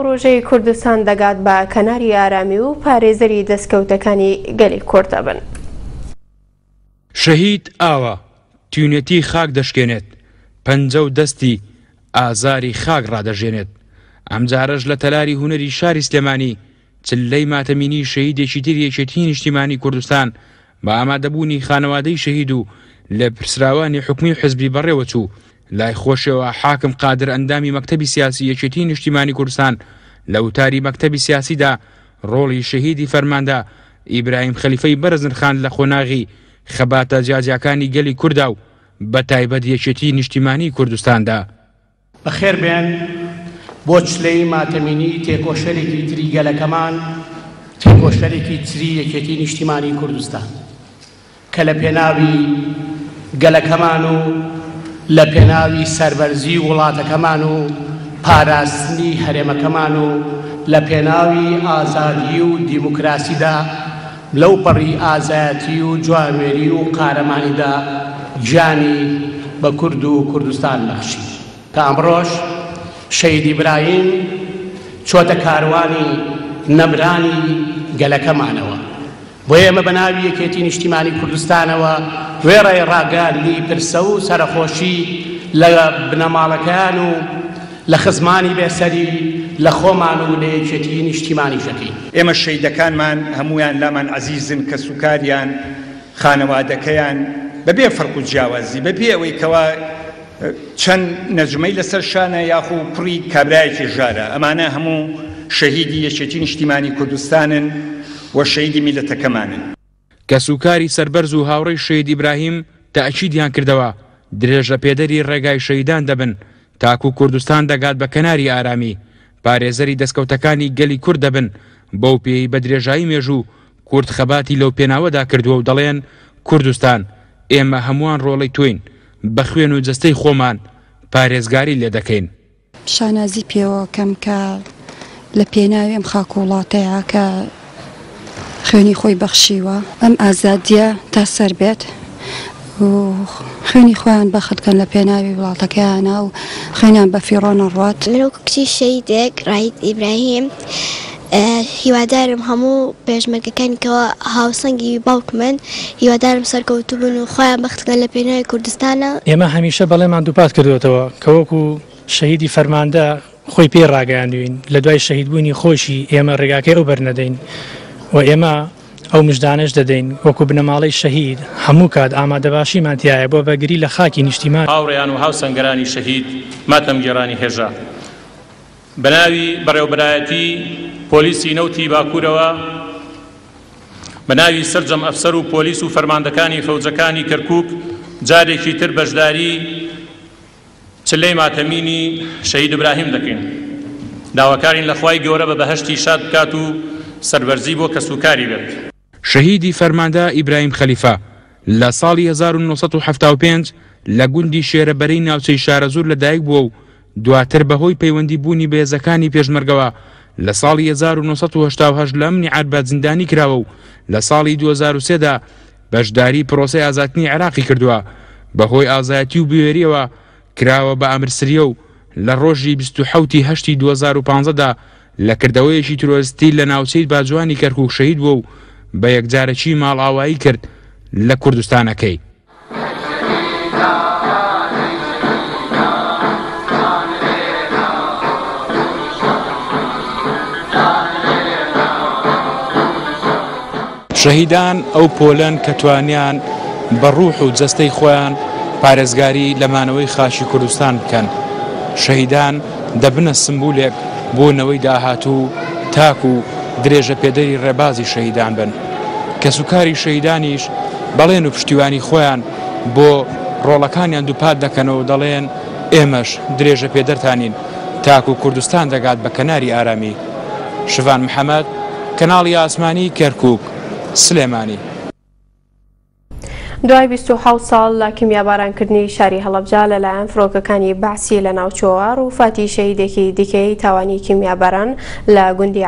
پڕۆژەی کوردستان دەگات بە کەناری ئارامی و پارێزەری دەستکەوتەکانی گەلی کورد دەبن. شەهید ئاوا تینوێتی خاک دەشکێنێت، پەنجە و دەستی ئازاری خاک ڕادەژێنێت. ئەمجارەش لە تەلاری هونەری شاری سلێمانی چلەی ماتەمینی شەهیدێکی تری یەکێتیی نیشتیمانیی کوردستان بە ئامادەبوونی خانەوادەی شەهید و لێپرسراوانی حکومی و حزبی بەڕێوەچوو، لای خۆشیەوە حاکم قادر ئەندامی مەکتەبی سیاسی یەکێتیی نیشتیمانی کوردستان لە وتاری مەکتەبی سیاسیدا ڕۆڵی شەهیدی فەرماندە ئیبراهیم خەلیفەی بەرز نرخاند لە قۆناغی خەباتە جیاجیاکانی گەلی کوردا و بەتایبەت یەکێتیی نیشتیمانیی کوردستاندا. بەخێر بێن بۆ چلەی ماتەمینی تێکۆشەرێکی تری گەلەکەمان، تێکۆشەرێکی تری یەکێتی نیشتیمانی کوردستان کە لە پێناوی گەلەکەمان و لە پێناوی سەربەرزی وڵاتەکەمان و پاراستنی هەرێمەکەمان و لە پێناوی ئازادی و دیموکراسیدا لەوپەڕی ئازایەتی و جوامێری و قارەمانیدا گیانی بە کورد و کوردستان بەخشی کە ئەمڕۆش شەهید ئیبراهیم چۆتە کاروانی نەمرانی گەلەکەمانەوە. بۆیە ئێمە بە ناوی یەکێتی نیشتیمانی کوردستانەوە وێڕای ڕاگەیاندنی پرسە و سەرەخۆشی لە بنەماڵەکەیان و لە خزمانی بێسەری لە خۆمان و لە یەکێتیی نیشتیمانیش دەکەین. ئێمە شەیدەکانمان هەموویان لامان عەزیزن، کەسوکاریان، خانەوادەکەیان، بەبێ فەرق و جیاوازی، بەبێ ئەوەی کەوا چەند نەجمەی لەسەر شانە یاخو کوڕی کابرایەکی ژارە، ئەمانە هەموو شەهیدی یەکێتی نیشتیمانی کوردستانن و شەهیدی میللەتەکەمانن. کەسوکاری سەربەرز و هاوڕێی شەهید ئیبراهیم تەئکیدیان کردەوە، درێژەپێدەری ڕێگای شەهیدان دەبن تاکو کوردستان دەگات بە کەناری ئارامی، پارێزەری دەستکەوتەکانی گەلی کورد دەبن، بەو پێیەی بە درێژایی مێژوو کورد خەباتی لەو پێناوەدا کردووە و دەڵێن کوردستان ئێمە هەمووان ڕۆڵەی تۆین، بە خوێن و جەستەی خۆمان پارێزگاری لێدەکەین. شانازی پێوە کەم کە لە پێناوی ئەم خاک و وڵاتەیا کە خوێنی خۆی بەخشیوە ئەم ئازادیە تا سەر بێت و خوێنی خۆیان بەخت کەن لە پێناوی وڵاتەکەیانا و خوێنیان بە فیڕۆ نەڕوات. من وەکو کچی شەهیدێک ڕاهید ئیبراهیم هیوادارم هەموو پێشمەرگەکانی کەوا هاوسەنگی باوکمن هیوادارم سەرکەوتوو بن و خۆیان بەخت کەن لە پێناوی کوردستانا. ئێمە هەمیشە بەڵێمان دووپات کردووەتەوە کە وەکو شەهیدی فەرماندە خۆی پێی ڕاگەیاندووین لە دوای شەهیدبوونی خۆیشی ئێمە ڕێگاکەی ئەو بەرنەدەین و ئێمە ئەو مژدانەش دەدەین وەکو بنەماڵەی شەهید هەموو کات ئامادەباشیمان تیایە بۆ بەرگری لە خاکی نیشتیمان. هاوڕێیان و هاوسەنگەرانی شەهید ماتەمگێڕانی هێژا. بەناوی بەڕێوەبەرایەتی پۆلیسی نەوتی باکوورەوە، بەناوی سەرجەم ئەفسەر و پۆلیس و فەرماندەکانی فەوجەکانی کەرکووک جارێکی تر بەشداری چلەی ماتەمینی شەهید ئیبراهیم دەکەین. داواکارین لە خوای گەورە بە بەهەشتی شاد بکات و سەربەرزی بۆ کەسوکاری بێت. شەهیدی فەرماندە ئیبراهیم خەلیفە لە ساڵی 1975 لە گوندی شێرەبەرەی ناوچەی شارەزوور لەدایک بووە و دواتر بەهۆی پەیوەندی بوونی بە هێزەکانی پێشمەرگەوە لە ساڵی 1988 لە ئەمنی عەربەت زیندانی کراوە و لە ساڵی 2003 دا بەشداری پرۆسەی ئازادکردنی عێراقی کردووە بەهۆی ئازایەتی و بوێریەوە کراوە بە ئامر سریە و لە ڕۆژی 27 ی هەشتی 2015 دا لە کردەوەیەکی ترۆرستی لە ناوچەی باجوانی کەرکوک شەهید بووە و بە یەکجارەکی ماڵئاوایی کرد لە کوردستانەکەی. شەهیدان ئەو پۆلەن کە توانیان بە ڕوح و جەستەی خۆیان پارێزگاری لە مانەوەی خاکی کوردستان بکەن. شەهیدان دەبنە سمبولێک بۆ نەوەی داهاتوو تاکو درێژەپێدەری ڕێبازی شەهیدان بن. کەسوکاری شەهیدانیش بەڵێن و پشتیوانی خۆیان بۆ ڕۆڵەکانیان دووپات دەکەنەوە و دەڵێن ئێمەش درێژەپێدەرتانین تاکو کوردستان دەگات بە کەناری ئارامی. شڤان محەمەد، کەناڵی ئاسمانی کەرکوک، سلێمانی. دوای 27 ساڵ لە کیمیابارانکردنی شاری هەڵەبجە لەلایەن فڕۆکەکانی بەعسی لەناوچووەوە، ڕووفاتی شەهیدێکی دیکەی تاوانی کیمیاباران لە گوندی.